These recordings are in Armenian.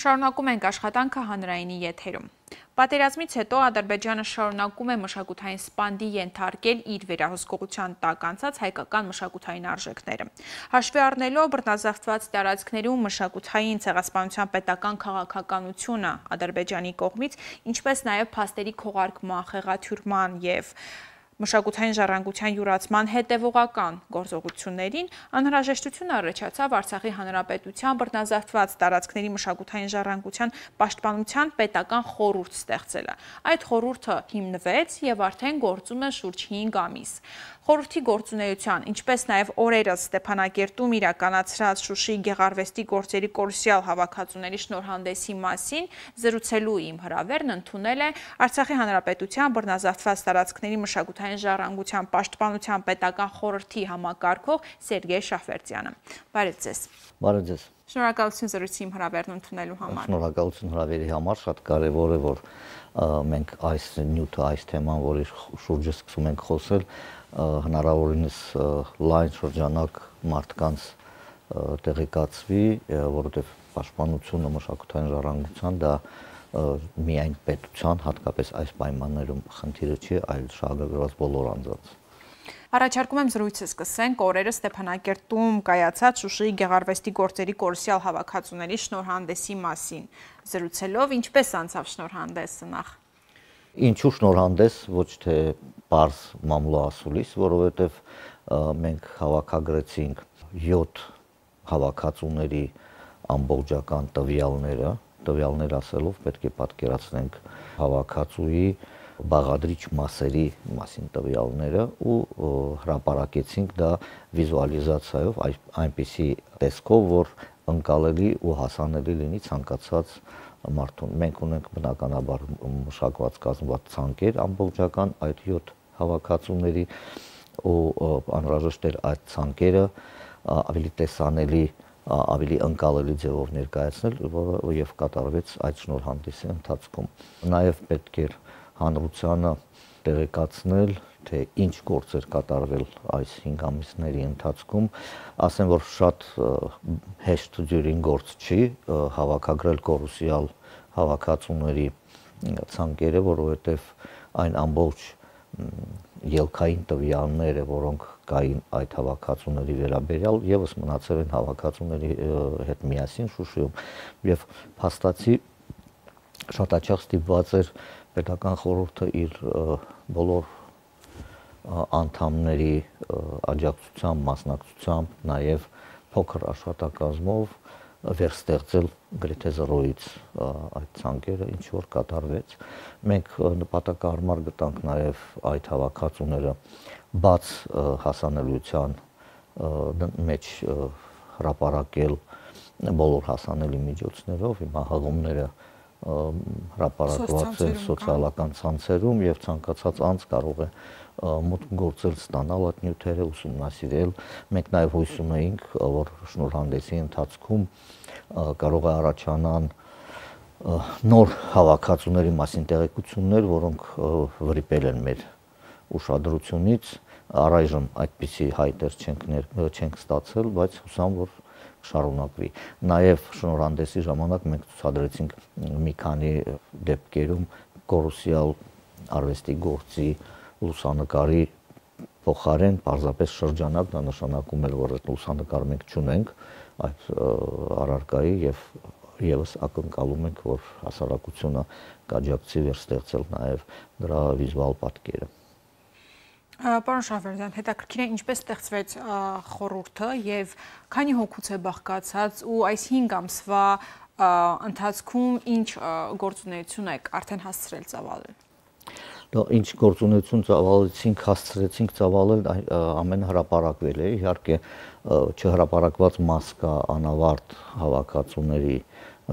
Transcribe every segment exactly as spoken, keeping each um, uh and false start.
Շարունակում ենք աշխատանքը հանրայինի եթերում։ Պատերազմից հետո Ադրբեջանը շարունակում է մշակութային սպանդի ենթարկել իր վերահսկողության տակ անցած հայկական մշակութային արժեքները։ Հաշվի առնելով բռնազավթված տարածքներում մշակութային ցեղասպանության պետական քաղաքականությունը Ադրբեջանի կողմից, ինչպես նաև փաստերի քողարկման, խեղաթյուրման և մշակութային ժառանգության յուրացման հետևողական գործողություններին անհրաժեշտություն առաջացավ Արցախի հանրապետության բռնազավթված տարածքների մշակութային ժառանգության պաշտպանության պետական խորհուրդ ստեղծելը։ Այդ խորհուրդը հիմնվեց եւ արդեն գործում է շուրջ հինգ ամիս։ Խորհրդի գործունեության, ինչպես նաև օրերս Ստեփանակերտում իրականացրած Շուշիի գեղարվեստի գործերի կորուսյալ հավաքածուների շնորհանդեսի մասին զրուցելու իմ հրավերն ընդունել է Արցախի հանրապետության բռնազավթված տարածքների մշակութային ժառանգության պաշտպանության պետական խորհրդի համակարգող Սերգեյ Շահվերդյանը։ Բարև ձեզ։ Բարև ձեզ։ Շնորհակալություն զրույցի իմ հրավերն ընդունելու համար։ Շնորհակալություն հրավերի համար, շատ կարևոր է, որ մենք այս նյութը, այս թեման, որի շուրջը սկսում ենք խոսել, հնարավորինս լայն շրջանակ մարդկանց տեղեկացվի, որովհետև պաշտպանությունը մշակութային ժառանգության դա միայն պետության, հատկապես այս պայմաններում խնդիրը չի, այլ շահագրգռված բոլոր անձանց։ Առաջարկում եմ զրույցը սկսենք օրերս Ստեփանակերտում կայացած Շուշիի գեղարվեստի գործերի կորուսյալ հավաքածուների շնորհանդեսի մասին զրուցելով, ինչպես անցավ շնորհանդեսը նախ։ Ինչու շնորհանդես, ոչ թե պարզ մամլո ասուլիս, որովհետև մենք հավաքագրեցինք յոթ հավաքածուների ամբողջական տվյալները, տվյալներ ասելով պետք է պատկերացնենք հավաքածուի բաղադրիչ մասերի մասին տվյալները ու հրապարակեցինք դա վիզուալիզացիայով այնպիսի տեսքով, որ ընկալելի ու հասանելի լինի ցանկացած մարդուն։ Մենք ունենք բնականաբար մշակված կազմված ցանկեր ամբողջական այդ յոթ հավաքածուների ու անհրաժեշտ էր այդ ցանկերը ավելի տեսանելի, ավելի ընկալելի ձևով ներկայացնել, որը եւ կատարվեց այդ շնորհանդեսի ընթացքում։ Նաեւ պետք էր հանրությանը տեղեկացնել, թե ինչ գործեր կատարվել այս հինգ ամիսների ընթացքում, ասեմ, որ շատ հեշտ դյուրին գործ չի հավաքագրել կորուսյալ հավաքածուների ցանկերը, որովհետև այն ամբողջ ելքային տվյալները, որոնք կային այդ հավաքածուների վերաբերյալ, եւս մնացել են հավաքածուների հետ միասին Շուշիում, եւ փաստացի շատ հաճախ ստիպված էր պետական խորհուրդը իր բոլոր անդամների աջակցությամբ, մասնակցությամբ, նաև փոքր աշխատակազմով վերստեղծել գրեթե զրոյից այդ ցանկերը, ինչ որ կատարվեց։ Մենք նպատակահարմար գտանք նաև այդ հավաքածուները բաց հասանելիության մեջ հրապարակել բոլոր հասանելի միջոցներով, հիմա հղումները հրապարակված են սոցիալական ցանցերում եւ ցանկացած անձ կարող է մուտք գործել, ստանալ այդ նյութերը, ուսումնասիրել։ Մենք նաեւ հույս ունեինք, որ շնորհանդեսի ընթացքում կարող է առաջանան նոր հավաքածուների մասին տեղեկություններ, որոնք վրիպել են մեր ուշադրությունից։ Առայժմ այդպիսի հայտեր չենք չենք ստացել, բայց հուսամ, որ շարունակվի։ Նաև շնորհանդեսի ժամանակ մենք ցուցադրեցինք մի քանի դեպքերում կորուսյալ արվեստի գործի լուսանկարի փոխարեն պարզապես շրջանակ, դա նշանակում է, որ այդ լուսանկարը մենք չունենք այդ առարկայի եւ եւս ակնկալում ենք, որ հասարակությունը կաջակցի վերստեղծել նաեւ դրա վիզուալ պատկերը։ Պարոն Շահվերդյան, հետաքրքիր է ինչպես ստեղծվեց խորհուրդը եւ քանի հոգուց է բաղկացած ու այս հինգ ամսվա ընթացքում ինչ գործունեություն եք արդեն հասցրել ծավալել։ Դա ինչ գործունեություն ծավալեցինք, հասցրեցինք ծավալել, ամենը հրապարակվել է, իհարկե չհրապարակված մաս կա անավարտ հավաքածուների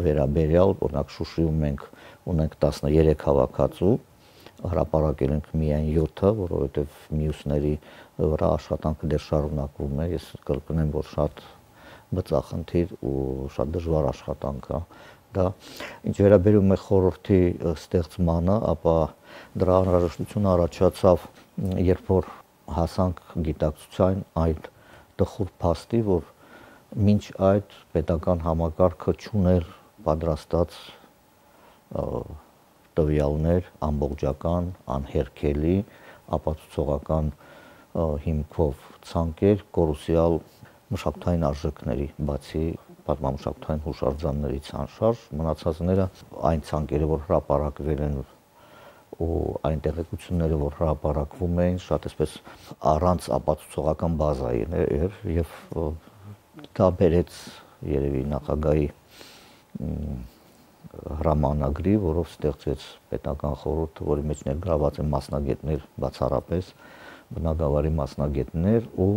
վերաբերյալ, օրինակ Շուշիում մենք ունենք տասներեք հավաքածու, հրապարակել ենք միայն յոթը, որովհետև մյուսների վրա աշխատանքը դեռ շարունակվում է, ես կրկնեմ, որ շատ բծախնդիր ու շատ դժվար աշխատանք է դա։ Ինչ վերաբերում է խորհրդի ստեղծմանը, ապա դրա անհրաժեշտությունը առաջացավ, երբ որ հասանք գիտակցության այդ տխուր փաստի, որ մինչ այդ պետական համակարգը չուներ պատրաստած տվյալներ, ամբողջական, անհերքելի, ապացուցողական հիմքով ցանկեր կորուսյալ մշակութային արժեքների, բացի պատմամշակութային հուշարձաններից անշարժ, մնացածները այն ցանկերը, որ հրապարակվել են ու այն տեղեկությունները, որ հրապարակվում էին, շատ այսպես առանց ապացուցողական բազայի էր եւ դա բերեց երևի նախագահի հրամանագրի, որով ստեղծվեց պետական խորհուրդ, որի մեջ ներգրաված են մասնագետներ, բացառապես բնագավառի մասնագետներ ու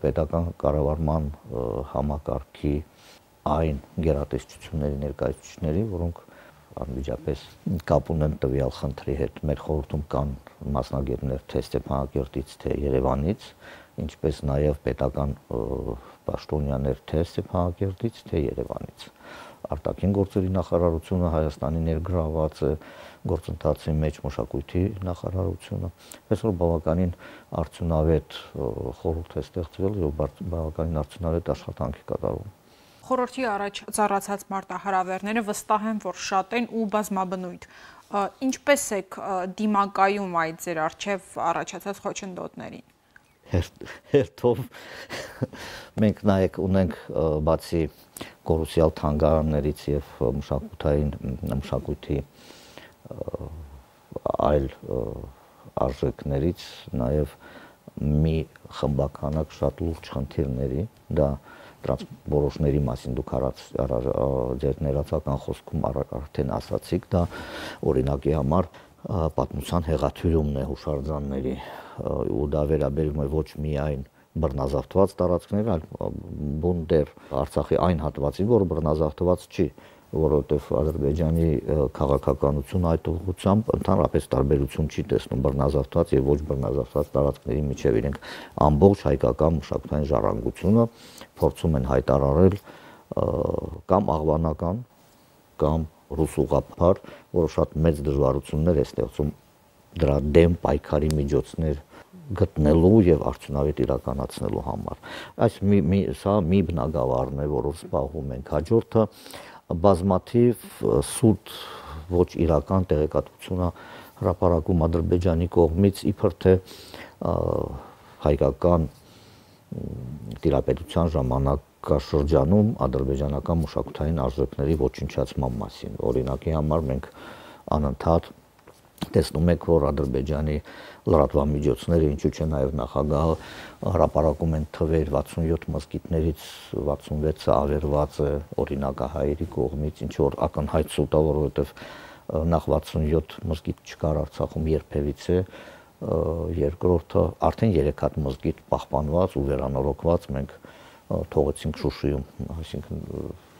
պետական կառավարման համակարգի այն գերատեսչությունների ներկայացուցիչների, որոնք անմիջապես կապ ունեն տվյալ խնդրի հետ։ Մեր խորհրդում կան մասնագետներ թե Ստեփանակերտից, թե Երևանից, ինչպես նաև պետական պաշտոնյաներ թե Ստեփանակերտից, թե Երևանից։ Արտաքին գործերի նախարարությունը Հայաստանի ներգրաված է գործընթացի մեջ, մշակույթի նախարարությունը, այսօր բավականին արդյունավետ խորհուրդ է ստեղծվել եւ բավականին արդյունավետ աշխատանք է կատարվում։ Խորհրդի առաջ ծառացած մարտահրավերները վստահ եմ, որ շատ են ու բազմաբնույթ։ Ինչպես եք դիմակայում այդ ձեր առջև առաջացած խոչընդոտներին։ Հերթով մենք նայեք ունենք բացի կորուսյալ թանգարաններից եւ մշակութային մշակույթի այլ արժեքներից նաեւ մի խմբականակ շատ լուրջ խնդիրների, դա տրանսպորտների մասին դուք ձեր ներածական խոսքում արդեն ասացիք, դա օրինակի համար պատմության հեղաթյուրումն է հուշարձանների ու դա վերաբերում է ոչ միայն բռնազավթված տարածքներ, այլ բունդեր Արցախի այն հատվածին, որը բռնազավթված չի, որովհետև Ադրբեջանի քաղաքականությունը այդ ուղղությամբ ընդհանրապես տարբերություն չի տեսնում բռնազավթված եւ ոչ բռնազավթված տարածքների միջեւ։ Իրենք ամբողջ հայկական մշակութային ժառանգությունը փորձում են հայտարարել կամ աղվանական կամ ռուսուղափար, որը շատ մեծ դժվարություններ է ստեղծում դրա դեմ պայքարի միջոցներ գտնելու եւ արդյունավետ իրականացնելու համար։ Այս մի, մի սա մի բնագավառն է, որով զբաղվում ենք։ Հաջորդը բազմաթիվ սուտ ոչ իրական տեղեկատվությունը հրապարակում Ադրբեջանի կողմից իբր թե հայկական տիրապետության ժամանակաշրջանում ադրբեջանական մշակութային արժեքների ոչնչացման մասին։ Օրինակի համար մենք անընդհատ տեսնում եք, որ Ադրբեջանի լրատվամիջոցները, ինչու՞ չէ նաև նախագահը հրապարակում են թվեր վաթսունյոթ մզկիթներից վաթսունվեցը ավերված է օրինակահայերի կողմից, ինչ որ ակնհայտ սուտ է, որովհետև նախ վաթսունյոթ մզկիթ չկար Արցախում երբևիցե, երկրորդը արդեն երեք հատ մզկիթ պահպանված ու վերանորոգված մենք թողեցինք Շուշիում, այսինքն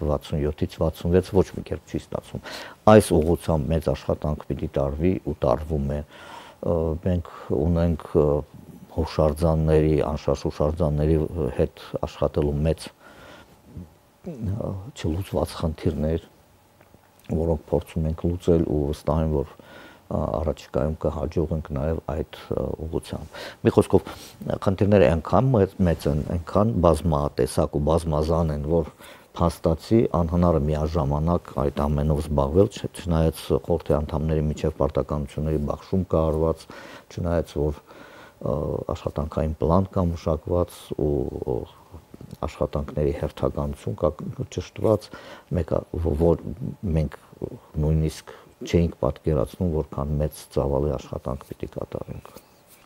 վաթսունյոթից վաթսունվեց ոչ մի կերպ չի ստացվում։ Այս ուղղությամբ մեծ աշխատանք պիտի տարվի ու տարվում է։ Մենք ունենք հուշարձանների, անշարժ հուշարձանների հետ աշխատելու մեծ չլուծված խնդիրներ, որոնք փորձում ենք լուծել ու վստահ եմ, որ առաջիկայում կհաջողենք նաև այդ ուղղությամբ։ Մի խոսքով խնդիրները այնքան մեծ են, այնքան բազմատեսակ ու բազմազան են, որ փաստացի անհնար է միաժամանակ այդ ամենով զբաղվել, չնայած խորհրդի անդամների միջև պարտականությունների բաշխում կա արված, չնայած որ աշխատանքային պլան կա մշակված ու աշխատանքների հերթականություն կա ճշտված, մեկը որ մենք նույնիսկ չէինք պատկերացնում, որքան մեծ ծավալի աշխատանք պիտի կատարենք։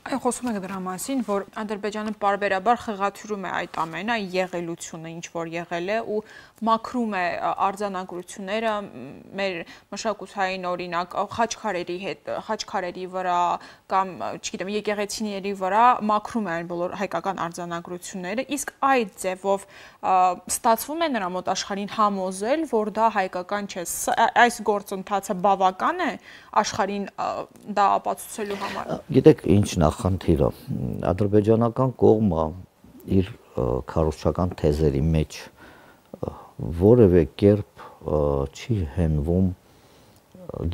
Այն խոսում եք դրա մասին, որ Ադրբեջանը պարբերաբար խղաթյուրում է այդ ամենը, եղելությունը, ինչ որ եղել է ու մաքրում է արձանագրությունները մեր մշակութային օրինակ խաչքարերի հետ, խաչքարերի վրա կամ, չգիտեմ, եկեղեցիների վրա մաքրում է այն բոլոր հայկական արձանագրությունները, իսկ այդ ձևով ստացվում է նրա մոտ աշխարհին համոզել, որ դա հայկական չէ։ Այս գործընթացը բավական է աշխարհին դա ապացուցելու համար։ Գիտեք, ինչ նախնդիրը ադրբեջանական կողմը իր քարոզչական թեզերի մեջ որևէ կերպ չի հենվում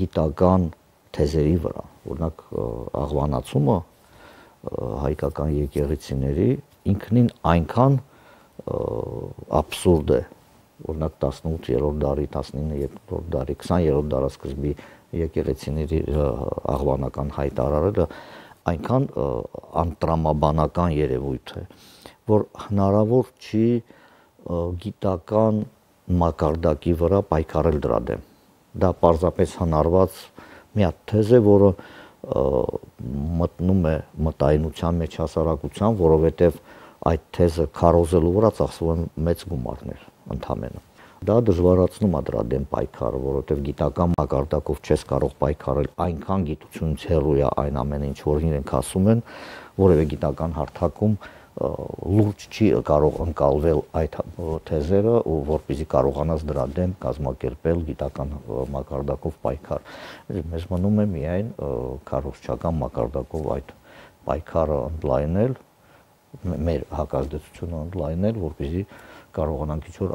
գիտական թեզերի վրա, օրինակ աղվանացումը հայկական եկեղեցիների ինքնին այնքան աբսուրդ է օրինակ տասնութ-երրորդ դարի, տասնինը-երրորդ դարի, քսաներորդ դարաշրջանի եկեղեցիների աղբանական հայտարարելը այնքան անտրամաբանական երևույթ է, որ հնարավոր չի գիտական մակարդակի վրա պայքարել դրա դեմ։ Դա պարզապես հնարված մի հատ թեզ է, որը մտնում է մտայնության մեջ հասարակության, որովհետև այդ թեզը քարոզելու վրա ծախսվում են մեծ գումարներ ընդհանրապես։ Դա դժվարացնում է դրա դեմ պայքարը, որովհետև գիտական մակարդակով չես կարող պայքարել, այնքան գիտությունից հեռու է այն ամենը, ինչ որ իրենք ասում են, որևէ գիտական հարթակում լուրջ չի կարող ընկալվել այդ թեզերը, ու որպեսզի կարողանաս դրա դեմ կազմակերպել գիտական մակարդակով պայքար։ Մեզ մնում է միայն քարոզչական մակարդակով այդ պայքարը ընդլայնել, մեր հակազդեցությունը ընդլայնել, որպեսզի կարողանանք ինչ-որ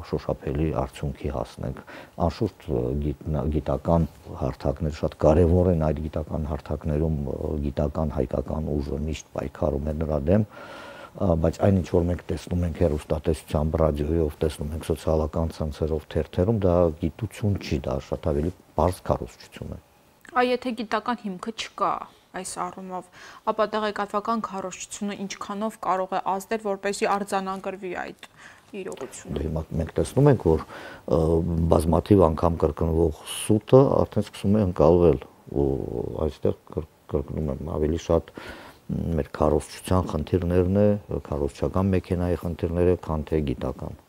շոշափելի արդյունքի հասնենք։ Անշուշտ գիտական հարթակներ շատ կարևոր են, այդ գիտական հարթակներում գիտական հայկական ուժը միշտ պայքարում է նրա դեմ, բայց այն ինչ որ մենք տեսնում ենք հեռուստատեսությամբ, ռադիոյով, տեսնում ենք սոցիալական ցանցերով, թերթերում, դա գիտություն չի, դա շատ ավելի պարզ քարոզչություն է։ Այ եթե գիտական հիմքը չկա այս առումով, ապա տեղեկատվական քարոզչությունը ինչքանով կարող է ազդել, որպեսզի արձանագրվի այդ իրողությունը։ Հիմա մենք տեսնում ենք, որ բազմաթիվ անգամ կրկնվող սուտը արդեն սկսում է ընկալվել, ու այստեղ կրկնում եմ ավելի շատ մեր քարոզչության խնդիրներն է, քարոզչական մեքենայի խնդիրները, քան թե գիտական։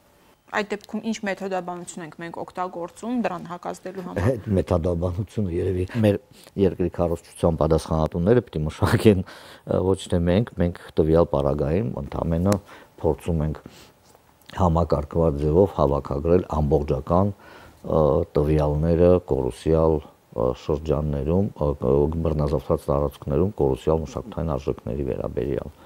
Այդ դեպքում ինչ մեթոդաբանություն ենք մենք օգտագործում դրան հակազդելու համար։ Այդ մեթոդաբանությունը երևի մեր երկրի քարոզչության պատասխանատուները պիտի մշակեն, ոչ թե մենք, մենք տվյալ պարագայում ընդամենը փորձում ենք համակարգված ձևով հավաքագրել ամբողջական տվյալները կորուսյալ շրջաններում, բռնազավթված տարածքներում կորուսյալ մշակութային արժեքների վերաբերյալ։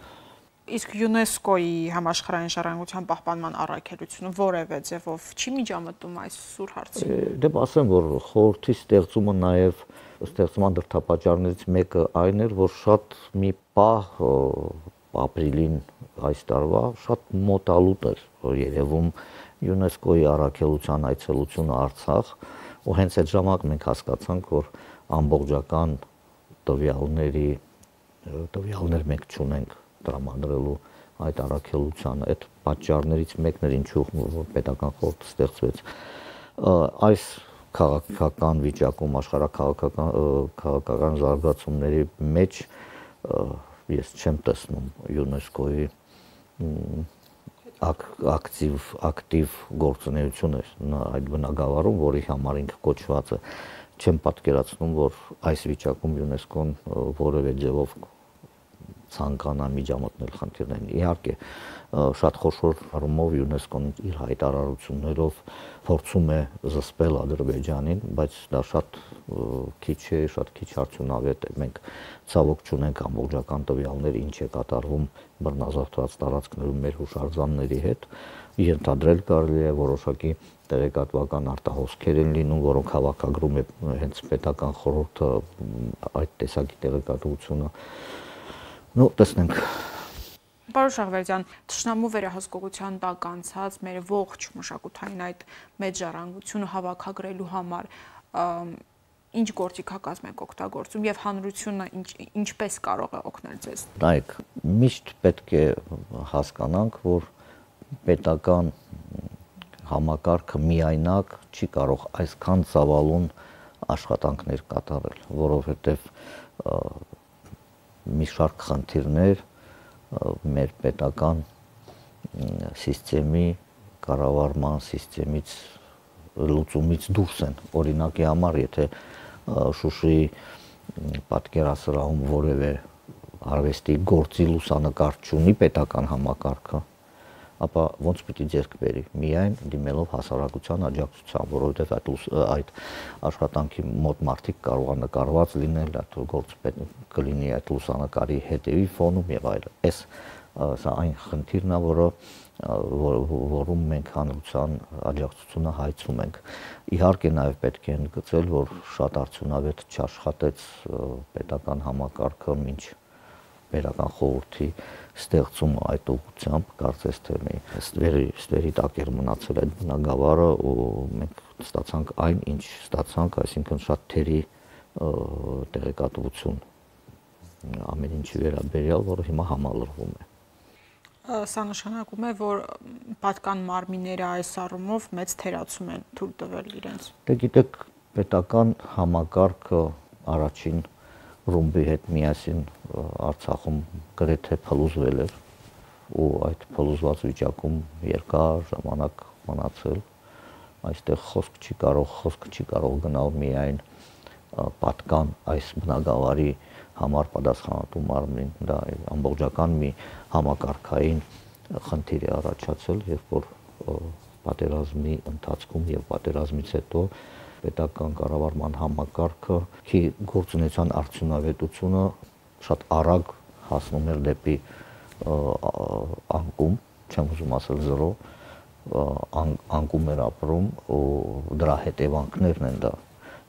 Իսկ ՅՈՒՆԵՍԿՕ-ի համաշխարհային ժառանգության պահպանման առաքելությունը որևէ ձևով չի միջամտում այս սուր հարցին։ Դե ասեմ, որ խորհրդի ստեղծումը նաև ստեղծման դրդապատճառներից մեկը այն էր, որ շատ մի պահ ապրիլին այս տարվա շատ մոտալուտ էր երևում ՅՈՒՆԵՍԿՕ-ի առաքելության այցելությունը Արցախ, ու հենց այդ ժամանակ մենք հասկացանք, որ ամբողջական տվյալների տվյալներ մենք չունենք տրամադրելու այդ առաքելությանը, այդ պատճառներից մեկն էր ինչու պետական խորհուրդ ստեղծվեց։ Այս քաղաքական վիճակում, աշխարհաքաղաքական քաղաքական զարգացումների մեջ ես չեմ տեսնում ՅՈՒՆԵՍԿՕ-ի ակտիվ ակտիվ գործունեություն այդ բնագավառում, որի համար ինքը կոչված է, չեմ պատկերացնում, որ այս վիճակում ՅՈՒՆԵՍԿՕ-ն որևէ ձևով ցանկանա միջամտնել խնդիրներին։ Իհարկե, շատ խոշոր առումով ՅՈՒՆԵՍԿՕ-ն իր հայտարարություններով փորձում է զսպել Ադրբեջանին, բայց դա շատ քիչ է, շատ քիչ արդյունավետ է։ Մենք ցավոք չունենք ամբողջական տվյալներ, ինչ է կատարվում բռնազավթված տարածքներում մեր հուշարձանների հետ։ Ենթադրել կարելի է որոշակի տեղեկատվական արտահոսքեր են լինում, որոնք հավաքագրում է հենց պետական խորհուրդը այդ տեսակի տեղեկատվությունը։ Ну, տեսնենք։ Պարոն Շահվերդյան, թշնամու վերահսկողության տակ անցած մեր ողջ մշակութային այդ մեծ ժառանգությունը հավաքագրելու համար ինչ գործիքակազմ եք օգտագործում եւ հանրությունը ինչպես կարող է օգնել ձեզ։ Նայեք, միշտ պետք է հասկանանք, որ պետական համակարգը միայնակ չի կարող այսքան ծավալուն աշխատանքներ կատարել, որովհետեւ մի շարք խնդիրներ մեր պետական համակարգի կառավարման համակարգից լուծումից դուրս են։ Օրինակի համար, եթե Շուշիի պատկերասրահում որևէ արվեստի գործի լուսանկար չունի պետական համակարգը, ապա ոնց պիտի ձեռք բերի, միայն դիմելով հասարակության աջակցության, որովհետև այդ աշխատանքի մոտ մարդիկ կարող է նկարված լինել, այդ գործը կլինի այդ լուսանկարի հետևի ֆոնում եւ այլն։ Այս սա այն խնդիրն է, որը որում մենք հանրության աջակցությունը հայցում ենք։ Իհարկե նաև պետք է ընդգծել, որ շատ արդյունավետ չաշխատեց պետական համակարգը մինչ պետական խորհրդի ստեղծումը այդ ուղղությամբ, կարծես թե մի ստվերի ստվերի տակ էր մնացել այդ բնագավառը ու մենք ստացանք այն, ինչ ստացանք, այսինքն շատ թերի տեղեկատվություն ամեն ինչի վերաբերյալ, որը հիմա համալրվում է։ Սա նշանակում է, որ պատկան մարմինները այս առումով մեծ թերացում են թույլ տվել իրենց։ Դե գիտեք, պետական համակարգը առաջին ռումբի հետ միասին Արցախում գրեթե փլուզվել էր ու այդ փլուզված վիճակում երկար ժամանակ մնացել։ Այստեղ խոսք չի կարող, խոսք չի կարող գնալ միայն պատկան այս բնագավառի համար պատասխանատու մարմնին, դա ամբողջական մի համակարգային խնդիր է առաջացել, երբ որ պատերազմի ընթացքում եւ պատերազմից հետո պետական կառավարման համակարգը քի գործունեության արդյունավետությունը շատ արագ հասնում էր դեպի անկում, չեմ ուզում ասել զրո, անկում էր ապրում ու դրա հետևանքներն են դա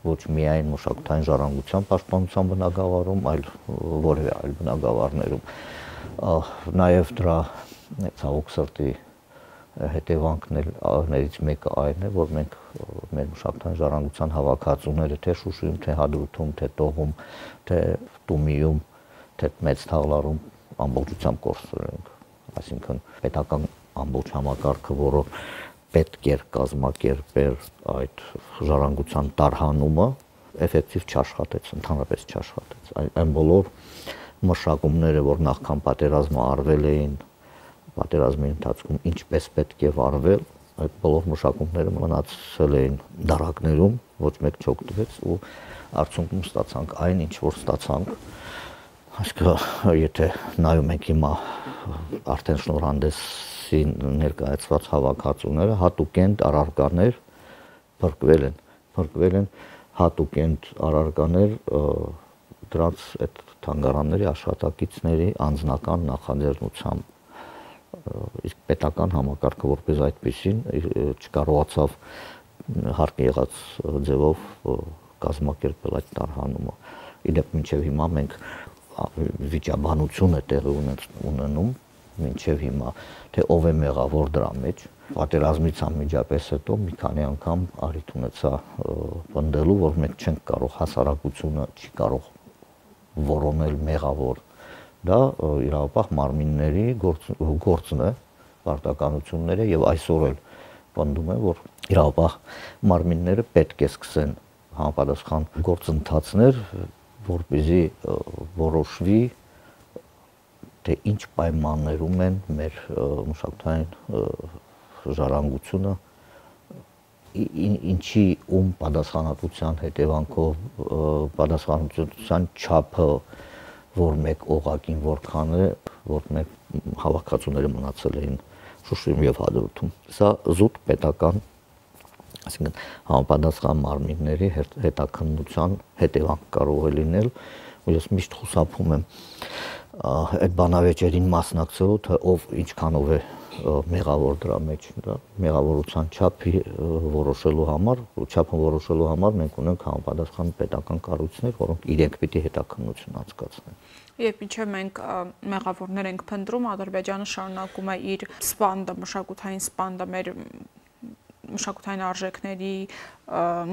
ոչ միայն մշակութային ժառանգության պաշտպանության բնագավառում, այլ որևէ այլ բնագավառներում։ Նաև դրա ցավոք սրտի հետևանքներից մեկը այն է, որ մենք մեր մշակութային ժառանգության հավաքածուները թե Շուշիում, թե Հադրութում, թե Տողում, թե Տումիում, թե Մեծ Թաղլարում ամբողջությամբ կորցրել ենք։ Այսինքն պետական ամբողջ համակարգը, որը պետք էր կազմակերպել այդ ժառանգության տարհանումը, էֆեկտիվ չաշխատեց, ընդհանրապես չաշխատեց։ Այն բոլոր մշակումները, որ նախքան պատերազմը արվել էին, պատերազմի ընթացքում ինչպես պետք է վարվել, այդ բոլոր մշակումները մնացել էին դարակներում, ոչ մեկ չօգտվեց ու արդյունքում ստացանք այն, ինչ որ ստացանք։ Այսինքն, եթե նայում ենք հիմա արդեն շնորհանդեսի ներկայացված հավաքածուները, հատուկենտ առարկաներ փրկվել են, փրկվել են հատուկենտ առարկաներ դրանց այդ թանգարանների աշխատակիցների անձնական նախաձեռնությամբ, իսկ պետական համակարգը որպես այդպեսին չկարողացավ հարկ եղած ձևով կազմակերպել այդ տարհանումը։ Իդեպ մինչև հիմա մենք վիճաբանություն է տեղի ունենում, մինչև հիմա, թե ով է մեղավոր դրա մեջ։ Պատերազմից անմիջապես հետո մի քանի անգամ առիթ ունեցա պնդելու, որ մենք չենք կարող, հասարակությունը չի կարող որոնել մեղավոր։ Դա իրավապահ մարմինների գործն է, պարտականությունները եւ այսօր էլ պնդում է, որ իրավապահ մարմինները պետք է սկսեն համապատասխան գործընթացներ, որպեսզի որոշվի թե ինչ պայմաններում են մեր մշակութային ժառանգությունը, ինչի ում պատասխանատվության հետևանքով պատասխանատվության չափը, որ մեկ օղակին որքան է, որ մեկ հավաքածուները մնացել էին Շուշիում եւ Հադրութում։ Սա զուտ պետական, այսինքն համապատասխան մարմինների հետաքննության հետևանք կարող է լինել, ու ես միշտ խուսափում եմ այդ բանավեճերին մասնակցելու, թե ով ինչքանով է մեղավոր դրա մեջ, դա մեղավորության չափը որոշելու համար, չափը որոշելու համար մենք ունենք համապատասխան պետական կառույցներ, որոնք իրենք պիտի հետաքննություն անցկացնեն։ Երբ մինչև մենք մեղավորներ ենք փնտրում, Ադրբեջանը շարունակում է իր սպանդը, մշակութային սպանդը մեր մշակութային արժեքների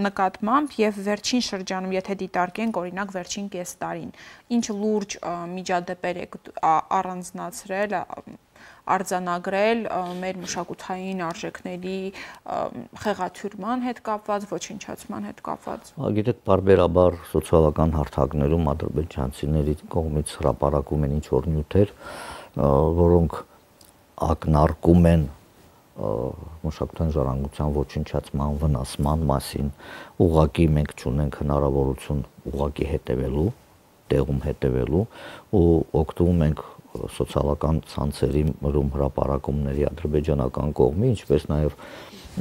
նկատմամբ եւ վերջին շրջանում, եթե դիտարկենք, օրինակ վերջին կես տարին, ինչ լուրջ միջադեպեր եք առանձնացրել, արձանագրել մեր մշակութային արժեքների խեղաթյուրման հետ կապված, ոչնչացման հետ կապված։ Գիտեք, բարբերաբար սոցիալական հարթակներում ադրբեջանցիների կողմից հրապարակում են ինչ որ նյութեր, որոնք ակնարկում են մշակութային ժառանգության ոչնչացման, վնասման մասին, ուղղակի մենք չունենք հնարավորություն ուղղակի հետևելու, տեղում հետևելու ու օգտվում ենք սոցիալական ցանցերի մրում հրապարակումների ադրբեջանական կողմի, ինչպես նաև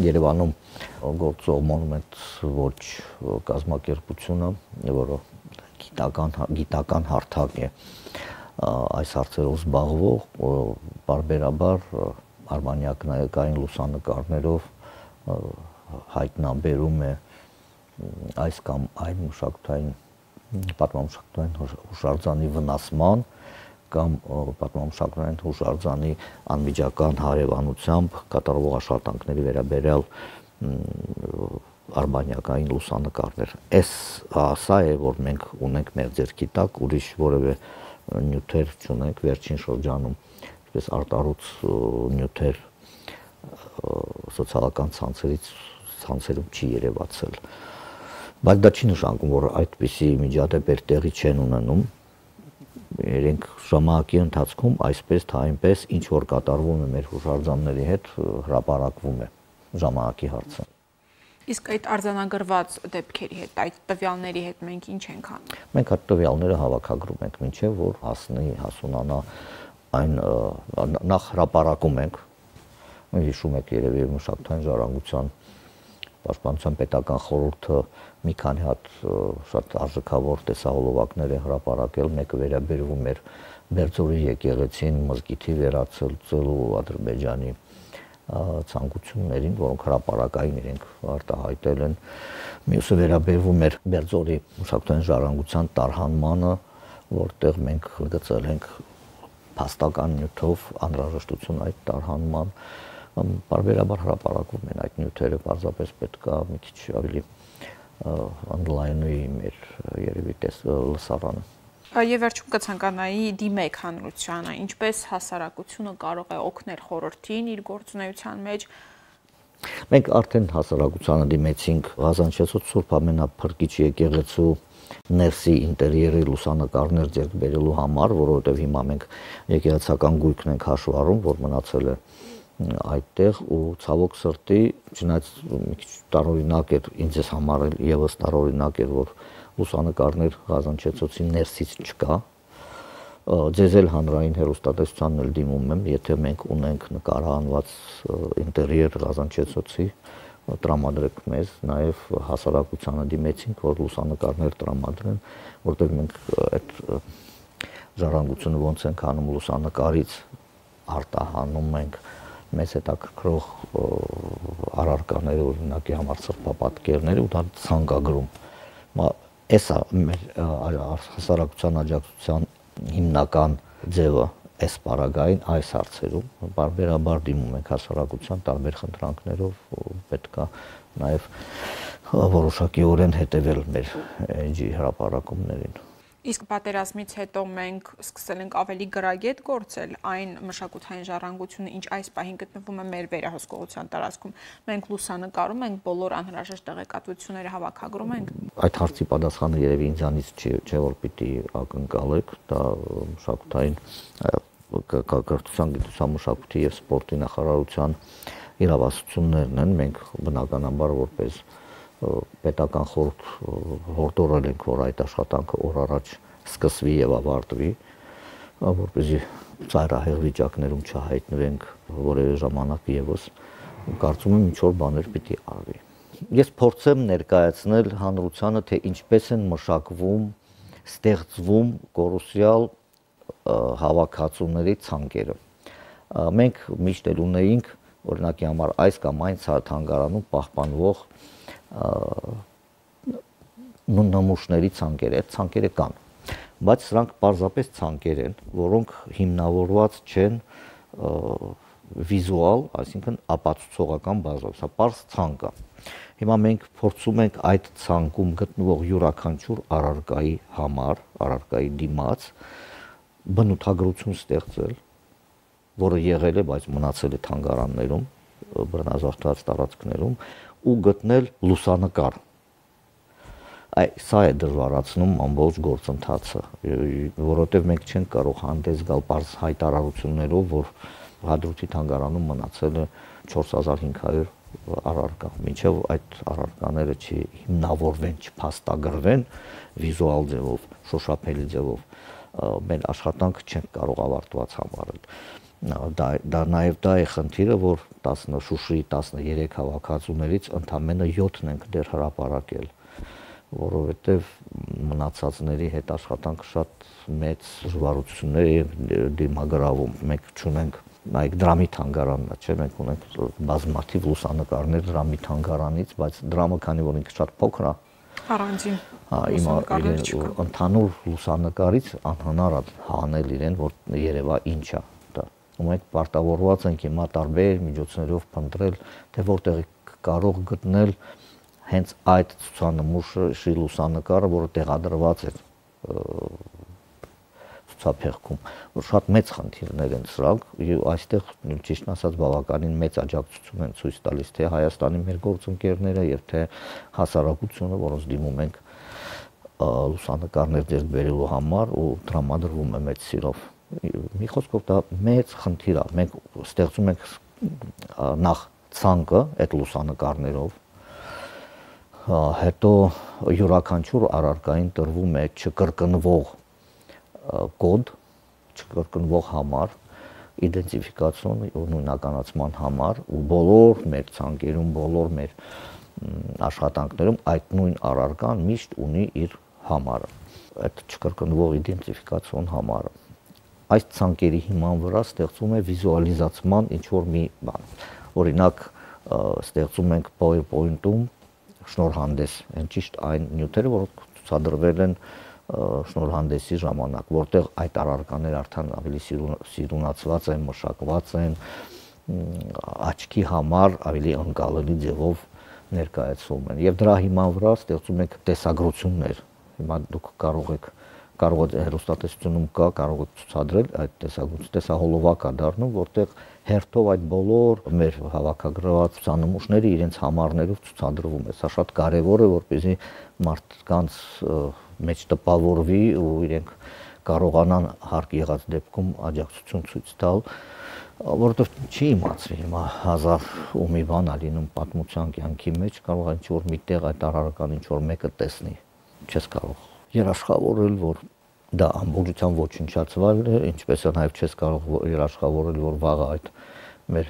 Երևանում գործող Monument Watch կազմակերպությունը, որը գիտական գիտական հարթակ է այս հարցերով զբաղվող, բարբերաբար արմանյակնային լուսանկարներով հայտնաբերում է այս կամ այն մշակութային պատմամշակութային հուշարձանի վնասման կամ պատմամշակութային հուշարձանի անմիջական հարևանությամբ կատարվող աշխատանքների վերաբերյալ արբանյակային լուսանկարներ։ Այս սա է, որ մենք ունենք մեր ձեռքի տակ, ուրիշ որևէ նյութեր չունենք վերջին շրջանում, այսպես արտառոց նյութեր սոցիալական ցանցերից ցանցերում չի երևացել։ Բայց դա չի նշանակում, որ այդպիսի միջադեպեր տեղի չեն ունենում։ Իրենք ժամանակի ընթացքում այսպես թե այնպես ինչ որ կատարվում է մեր հուշարձանների հետ հրապարակվում է ժամանակի հարցը։ Իսկ այդ արձանագրված դեպքերի հետ, այդ տվյալների հետ մենք ինչ ենք անում։ Մենք այդ տվյալները հավաքագրում ենք, մինչև որ հասնի, հասունանա այն նախ հրապարակում ենք։ Մենք հիշում եք երևի մշակութային ժառանգության պաշտպանության պետական խորհուրդը մի քանի հատ շատ արժեքավոր տեսահոլովակներ է հրապարակել, մեկը վերաբերվում էր Բերձորի եկեղեցին մզկիթի վերացելու Ադրբեջանի ցանկություններին, որոնք հրապարակային իրենք արտահայտել են։ Մյուսը վերաբերվում էր Բերձորի մշակութային ժառանգության տարհանմանը, որտեղ մենք գծել ենք փաստական նյութով անհրաժեշտություն այդ տարհանման։ Բարբերաբար հրապարակվում են այդ նյութերը, պարզապես պետք է մի քիչ ավելի online-ի մեր երևի լսարանը։ Եվ վերջում կցանկանայի դիմեք հանրությանը, ինչպես հասարակությունը կարող է օգնել խորհրդին իր գործունեության մեջ։ Մենք արդեն հասարակությանը դիմեցինք Ղազանչեցոտ Սուրբ Ամենափրկիչ եկեղեցու ներսի ինտերիերի լուսանկարներ ձեռք բերելու համար, որովհետև հիմա մենք եկեղեցական գույքն ենք հաշվառում, որ մնացել է այդտեղ ու ցավոք սրտի, չնայած մի քիչ տարօրինակ էր, ինձ ես համարել եւս տարօրինակ էր, որ լուսանկարներ Ղազանչեցոցի ներսից չկա։ Ձեզ էլ հանրային հեռուստատեսությանն էլ դիմում եմ, եթե մենք ունենք նկարահանված ինտերիեր Ղազանչեցոցի, տրամադրեք մեզ, նաև հասարակությանը դիմեցինք, որ լուսանկարներ տրամադրեն, որտեղ մենք այդ ժառանգությունը ոնց ենք անում լուսանկարից արտահանում ենք մեզ հետաքրքրող առարկաները, օրինակի համար սրբապատկերները ու դա ցանկագրում։ Էսա մեր հասարակության աջակցության հիմնական ձևը այս պարագային այս հարցերում բարբերաբար դիմում ենք հասարակության տարբեր խնդրանքներով, պետք է նաև որոշակիորեն հետևել մեր էջի հրապարակումներին։ Իսկ պատերազմից հետո մենք սկսել ենք ավելի գրագետ գործել այն մշակութային ժառանգությունը, ինչ այս պահին գտնվում է մեր վերահսկողության տարածքում։ Մենք լուսանկարում ենք, բոլոր անհրաժեշտ տեղեկատվությունները հավաքագրում ենք։ Այդ հարցի պատասխանը երևի ինձանից չէ, որ պիտի ակնկալեք, դա մշակութային կրթության, գիտության, մշակույթի եւ սպորտի նախարարության իրավասություններն են։ Մենք բնականաբար որպես պետական խորհուրդ հորդորել ենք, որ այդ աշխատանքը օր առաջ սկսվի եւ ավարտվի, որպեսզի ծայրահեղ վիճակներում չհայտնվենք որևէ ժամանակ եւս, կարծում եմ ինչ որ բաներ պիտի արվի։ Ես փորձեմ ներկայացնել հանրությանը, թե ինչպես են մշակվում, ստեղծվում կորուսյալ հավաքածուների ցանկերը։ Մենք միշտ էլ ունեինք, օրինակի համար այս կամ այն թանգարանում պահպանվող նմուշների ցանկեր, այդ ցանկերը կան, բայց սրանք պարզապես ցանկեր են, որոնք հիմնավորված չեն վիզուալ, այսինքն ապացուցողական բազայով, սա պարզ ցանկ է։ Հիմա մենք փորձում ենք այդ ցանկում գտնվող յուրաքանչյուր առարկայի համար, առարկայի դիմաց բնութագրություն ստեղծել, որը եղել է, բայց մնացել է թանգարաններում, բռնազավթված տարածքներում ու գտնել լուսանկար։ Այ սա է դժվարացնում ամբողջ գործընթացը, որովհետև մենք չենք կարող հանդես գալ պարզ հայտարարություններով, որ Հադրութի թանգարանում մնացել է չորս հազար հինգ հարյուր առարկա, մինչև այդ առարկաները չհիմնավորվեն, չփաստագրվեն վիզուալ ձևով, շոշափելի ձևով, մեր աշխատանքը չենք կարող ավարտված համարել։ Դա, դա նաև դա է խնդիրը, որ Շուշիի տասներեք հավաքածուներից ընդամենը յոթն ենք դեռ հրապարակել, որովհետև մնացածների հետ աշխատանքը շատ մեծ դժվարություններ է դիմագրավում։ Մենք չունենք, նայեք դրամի թանգարանն է, չէ՞, մենք ունենք բազմաթիվ լուսանկարներ դրամի թանգարանից, բայց դրամը, քանի որ ինքը շատ փոքր է, Առանձին լուսանկարներ չկա։ Ընդհանուր լուսանկարից անհնար է հանել իրեն, որ երևա ինչ է դա։ Ու մենք պարտավորված ենք հիմա տարբեր միջոցներով փնտրել, թե որտեղ կարող գտնել հենց այդ ցուցանմուշի լուսանկարը, որը տեղադրված է ցուցափեղկում, որ շատ մեծ խնդիրներ են սրանք, եւ այստեղ ճիշտ ասած բավականին մեծ աջակցություն են ցույց տալիս թե Հայաստանի մեր գործընկերները եւ թե հասարակությունը, որոնց դիմում ենք լուսանկարներ ձեռք բերելու համար ու տրամադրվում է մեծ սիրով։ Մի խոսքով դա մեծ խնդիր է։ Մենք ստեղծում ենք նախ ցանկը այդ լուսանկարներով, հետո յուրաքանչյուր առարկային տրվում է չկրկնվող կոդ, չկրկնվող համար, իդենտիֆիկացիոն ու նույնականացման համար ու բոլոր մեր ցանկերում, բոլոր մեր աշխատանքներում այդ նույն առարկան միշտ ունի իր համարը, այդ չկրկնվող իդենտիֆիկացիոն համարը։ Այս ցանկերի հիման վրա ստեղծում է վիզուալիզացման ինչ-որ մի բան։ Օրինակ, ստեղծում ենք PowerPoint-ում շնորհանդես, այն ճիշտ այն նյութերը, որոնք ցուցադրվել են շնորհանդեսի ժամանակ, որտեղ այդ առարկաները արդեն ավելի սիրունացված են, մշակված են, աչքի համար ավելի ընկալելի ձևով ներկայացվում են։ Եվ դրա հիման վրա ստեղծում ենք տեսագրություններ։ Հիմա դուք կարող եք կարող եք հեռուստատեսությունում կա, կարող եք ցուցադրել այդ տեսագրությունը, տեսահոլովակ է դառնում, որտեղ հերթով այդ բոլոր մեր հավաքագրված ցուցանմուշները իրենց համարներով ցուցադրվում է։ Սա շատ կարևոր է, որպեսզի մարդկանց մեջ տպավորվի ու իրենք կարողանան հարկ եղած դեպքում աջակցություն ցույց տալ, որովհետև չի իմացվի հիմա հազար ու մի բան ա լինում պատմության կյանքի մեջ, կարող է ինչ-որ միտեղ այդ առարկան ինչ-որ մեկը տեսնի, չես կարող երաշխավորել, որ դա ամբողջությամբ ոչնչացվել է, ինչպես է նաև չես կարող երաշխավորել, որ վաղը այդ մեր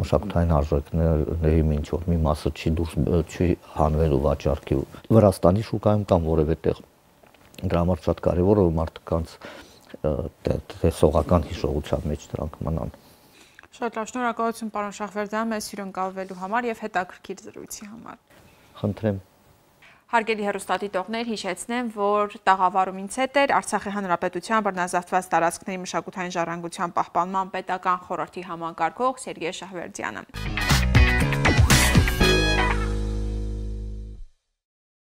մշակութային արժեքների ինչ-որ մի մասը չի դուրս չի հանվելու վաճառքի։ Վրաստանի շուկայում կամ որևէ տեղ դրա համար շատ կարևոր է որ մարդկանց տեսողական հիշողության մեջ դրանք մնան։ Շատ լավ, շնորհակալություն պարոն Շահվերդյան, մեզ հյուրընկալվելու համար եւ հետաքրքիր զրույցի համար։ Խնդրեմ։ Հարգելի հեռուստադիտողներ, հիշեցնեմ, որ տաղավարումից հետ էր Արցախի Հանրապետության բռնազավթված տարածքների մշակութային ժառանգության պահպանման պետական խորհրդի համակարգող Սերգեյ Շահվերդյանը։